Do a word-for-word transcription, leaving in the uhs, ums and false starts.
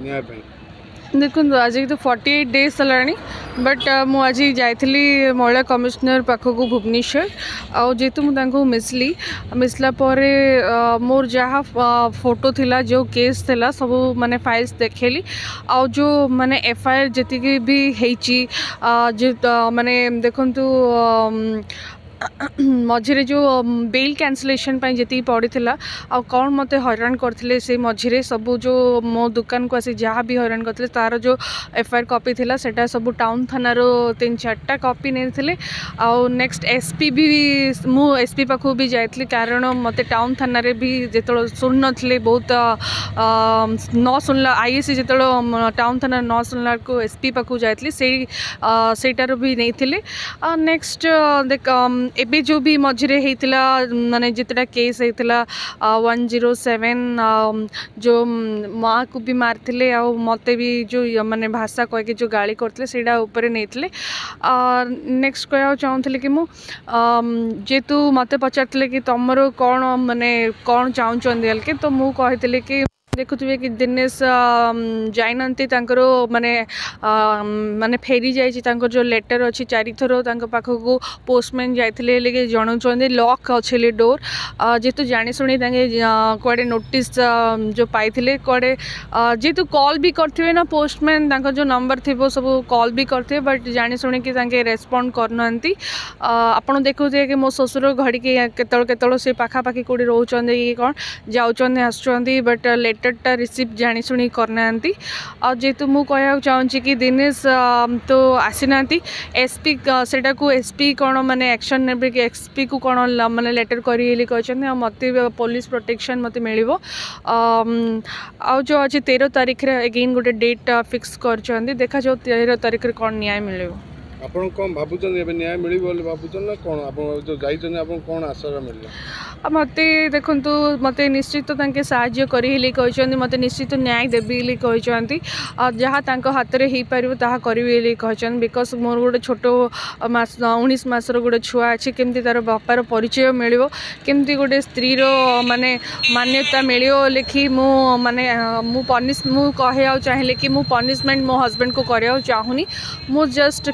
ନ୍ୟାୟ ପାଇଁ? ଦେଖନ୍ତୁ, ଆଜିକି ତ ଫର୍ଟି ଏଇଟ୍ ଡେଜ୍ ହେଲାଣି, ବଟ୍ ମୁଁ ଆଜି ଯାଇଥିଲି ମହିଳା କମିଶନର ପାଖକୁ ଭୁବନେଶ୍ୱର। ଆଉ ଯେହେତୁ ମୁଁ ତାଙ୍କୁ ମିଶିଲି, ମିଶିଲା ପରେ ମୋର ଯାହା ଫଟୋ ଥିଲା, ଯେଉଁ କେସ୍ ଥିଲା, ସବୁ ମାନେ ଫାଇଲ୍ସ ଦେଖେଇଲି। ଆଉ ଯେଉଁ ମାନେ ଏଫ୍ I R ଯେତିକି ବି ହେଇଛି, ଯେ ମାନେ ଦେଖନ୍ତୁ, ମଝିରେ ଯେଉଁ ବେଲ୍ କ୍ୟାନସଲେସନ୍ ପାଇଁ ଯେତିକି ପଡ଼ିଥିଲା ଆଉ କ'ଣ ମୋତେ ହଇରାଣ କରିଥିଲେ, ସେଇ ମଝିରେ ସବୁ ଯେଉଁ ମୋ ଦୋକାନକୁ ଆସି ଯାହା ବି ହଇରାଣ କରିଥିଲେ, ତା'ର ଯେଉଁ ଏଫ୍ I R copy ଥିଲା, ସେଇଟା ସବୁ ଟାଉନ୍ ଥାନାରୁ ତିନି ଚାରିଟା କପି ନେଇଥିଲେ। ଆଉ ନେକ୍ସଟ ଏସ୍ ପି ବି, ମୁଁ ଏସ୍ ପି ପାଖକୁ ବି ଯାଇଥିଲି, କାରଣ ମୋତେ ଟାଉନ୍ ଥାନାରେ ବି ଯେତେବେଳେ ଶୁଣିନଥିଲେ, ବହୁତ ନ ଶୁଣିଲା, I I C ଯେତେବେଳେ ଟାଉନ୍ ଥାନାରେ ନ ଶୁଣିଲା ବେଳକୁ ଏସ୍ ପି ପାଖକୁ ଯାଇଥିଲି, ସେଇ ସେଇଟାରୁ ବି ନେଇଥିଲେ। ନେକ୍ସଟ ଦେଖ, ଏବେ ଯେଉଁ ବି ମଝିରେ ହେଇଥିଲା, ମାନେ ଯେତେଟା କେସ୍ ହେଇଥିଲା ୱାନ୍ ଜିରୋ ସେଭେନ୍, ଯେଉଁ ମାଆକୁ ବି ମାରିଥିଲେ ଆଉ ମୋତେ ବି ଯେଉଁ ମାନେ ଭାଷା କହିକି ଯେଉଁ ଗାଳି କରିଥିଲେ, ସେଇଟା ଉପରେ ନେଇଥିଲେ। ନେକ୍ସଟ କହିବାକୁ ଚାହୁଁଥିଲି କି ମୁଁ ଯେହେତୁ ମୋତେ ପଚାରିଥିଲେ କି ତୁମର କ'ଣ ମାନେ କ'ଣ ଚାହୁଁଛନ୍ତି ବୋଲିକି, ତ ମୁଁ କହିଥିଲି କି ଦେଖୁଥିବେ କି ଦିନେଶ ଯାଇନାହାନ୍ତି, ତାଙ୍କର ମାନେ ମାନେ ଫେରି ଯାଇଛି ତାଙ୍କର ଯେଉଁ ଲେଟର୍ ଅଛି। ଚାରିଥର ତାଙ୍କ ପାଖକୁ ପୋଷ୍ଟମ୍ୟାନ୍ ଯାଇଥିଲେ, ହେଲେ କି ଜଣାଉଛନ୍ତି ଲକ୍ ଅଛି ହେଲେ ଡୋର୍। ଯେହେତୁ ଜାଣିଶୁଣି ତାଙ୍କେ କୁଆଡ଼େ ନୋଟିସ୍ ଯେଉଁ ପାଇଥିଲେ କୁଆଡ଼େ, ଯେହେତୁ କଲ୍ ବି କରିଥିବେ ନା ପୋଷ୍ଟମ୍ୟାନ୍, ତାଙ୍କର ଯେଉଁ ନମ୍ବର ଥିବ ସବୁ କଲ୍ ବି କରିଥିବେ, ବଟ୍ ଜାଣିଶୁଣିକି ତାଙ୍କେ ରେସ୍ପଣ୍ଡ କରୁନାହାନ୍ତି। ଆପଣ ଦେଖୁଥିବେ କି ମୋ ଶ୍ୱଶୁର ଘଡ଼ିକି କେତେବେଳେ କେତେବେଳେ ସେ ପାଖାପାଖି କେଉଁଠି ରହୁଛନ୍ତି କି କ'ଣ, ଯାଉଛନ୍ତି ଆସୁଛନ୍ତି, ବଟ୍ ଲେଟର୍ଟା ରିସିଭ୍ ଜାଣିଶୁଣି କରିନାହାନ୍ତି। ଆଉ ଯେହେତୁ ମୁଁ କହିବାକୁ ଚାହୁଁଛି କି ଦିନେଶ ତ ଆସିନାହାନ୍ତି, ଏସ୍ ପି ସେଇଟାକୁ ଏସ୍ ପି କ'ଣ ମାନେ ଆକ୍ସନ୍ ନେବେ କି ଏସ୍ ପିକୁ କ'ଣ ମାନେ ଲେଟର୍ କରିବେ ବୋଲି କହିଛନ୍ତି। ଆଉ ମୋତେ ପୋଲିସ ପ୍ରୋଟେକ୍ସନ୍ ମୋତେ ମିଳିବ। ଆଉ ଯେଉଁ ଅଛି ତେର ତାରିଖରେ ଏଗେନ୍ ଗୋଟେ ଡେଟ୍ ଫିକ୍ସ କରିଛନ୍ତି, ଦେଖାଯାଉ ତେର ତାରିଖରେ କ'ଣ ନ୍ୟାୟ ମିଳିବ। ଆପଣ କ'ଣ ଭାବୁଛନ୍ତି, ଏବେ ନ୍ୟାୟ ମିଳିବ ବୋଲି ଭାବୁଛନ୍ତି ନା କ'ଣ? ଆପଣ ଯେଉଁ ଯାଇଛନ୍ତି, ଆପଣଙ୍କୁ କ'ଣ ଆଶା ମିଳିଲା? ମୋତେ ଦେଖନ୍ତୁ, ମୋତେ ନିଶ୍ଚିତ ତାଙ୍କେ ସାହାଯ୍ୟ କରି ବୋଲି କହିଛନ୍ତି, ମୋତେ ନିଶ୍ଚିତ ନ୍ୟାୟ ଦେବି ବୋଲି କହିଛନ୍ତି, ଆଉ ଯାହା ତାଙ୍କ ହାତରେ ହେଇପାରିବ ତାହା କରିବି ବୋଲି କହିଛନ୍ତି। Because ମୋର ଗୋଟେ ଛୋଟ ମାସ ଉଣେଇଶ ମାସର ଗୋଟେ ଛୁଆ ଅଛି, କେମିତି ତା'ର ବାପାର ପରିଚୟ ମିଳିବ, କେମିତି ଗୋଟେ ସ୍ତ୍ରୀର ମାନେ ମାନ୍ୟତା ମିଳିବ ଲେଖି ମୁଁ ମାନେ ମୁଁ ପନିଶ ମୁଁ କହିବାକୁ ଚାହିଁଲେ କି ମୁଁ ପନିସମେଣ୍ଟ ମୋ ହଜବେଣ୍ଡକୁ କରିବାକୁ ଚାହୁଁନି। ମୁଁ ଜଷ୍ଟ